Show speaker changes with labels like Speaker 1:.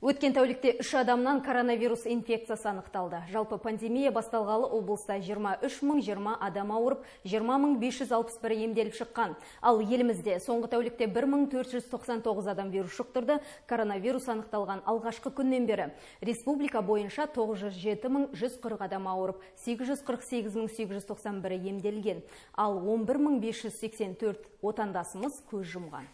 Speaker 1: Өткен тәулікте 3 адамнан коронавирус инфекциясы анықталды. Жалпы пандемия басталғалы облыста 23.020 адам ауырып, 20.561 емделіп шыққан. Ал елімізде соңғы тәулікте 1499 адам вирус жұқтырды. Коронавирус анықталған алғашқы күннен бері республика бойынша 907.140 адам ауырып, 848.891 емделген. Ал 11.584 отандасымыз көз жұмған.